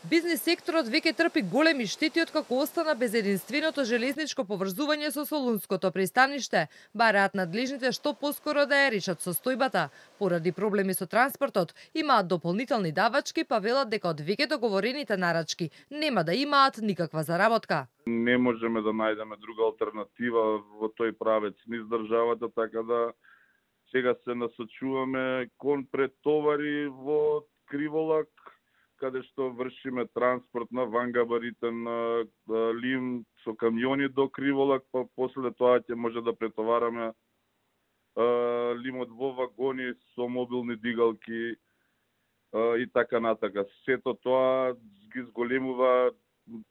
Бизнес секторот веќе трпи големи штети откако остана без единственото железничко поврзување со Солунското пристаниште. Бараат надлежните што поскоро да ја решат состојбата. Поради проблеми со транспортот, имаат дополнителни давачки, па велат дека од веќе договорените нарачки нема да имаат никаква заработка. Не можеме да најдеме друга алтернатива во тој правец низ државата, така да сега се насочуваме кон претовари во Криволак, каде што вршиме транспорт на вангабаритен лим со камиони до Криволак, па после тоа ќе може да претовараме лимот во вагони со мобилни дигалки и така натака. Сето тоа ги зголемува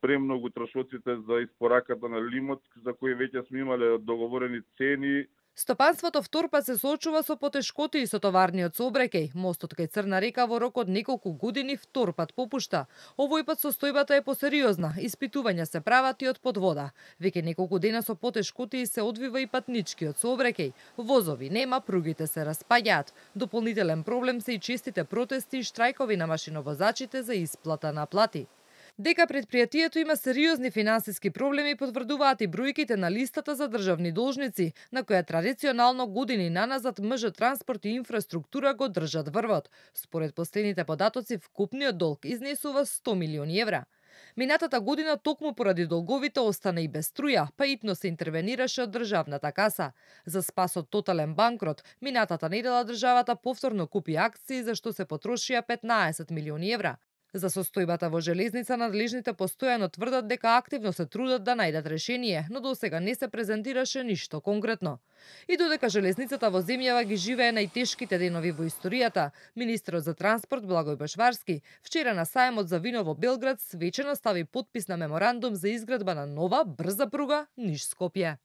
премногу трошоците за испораката на лимот, за кои веќе сме имале договорени цени. Стопанството Вторпат се соочува со потешкоти и со товарниот сообраќај. Мостот кај Црна река во рок од неколку години Вторпат попушта. Овој пат состојбата е посериозна, испитувања се прават и од подвода. Веќе неколку дена со потешкоти се одвива и патничкиот сообраќај. Возови нема, пругите се распаѓаат. Дополнителен проблем се и честите протести и штрајкови на машиновозачите за исплата на плати. Дека предпријатието има сериозни финансиски проблеми потврдуваат и бројките на листата за државни должници, на која традиционално години наназад МЖ Транспорт и инфраструктура го држат врвот. Според последните податоци, вкупниот долг изнесува 100 милиони евра. Минатата година токму поради долговите остана и без струја, па итно се интервенираше од државната каса. За спас од тотален банкрот, минатата недела државата повторно купи акции за што се потрошија 15 милиони евра. За состојбата во железница надлежните постојано тврдат дека активно се трудат да најдат решение, но досега не се презентираше ништо конкретно. И додека железницата во земјава ги живее најтешките денови во историјата, министерот за транспорт Благој Бошварски вчера на сајмот за вино во Белград свечено стави потпис на меморандум за изградба на нова брза пруга Ниш-Скопје.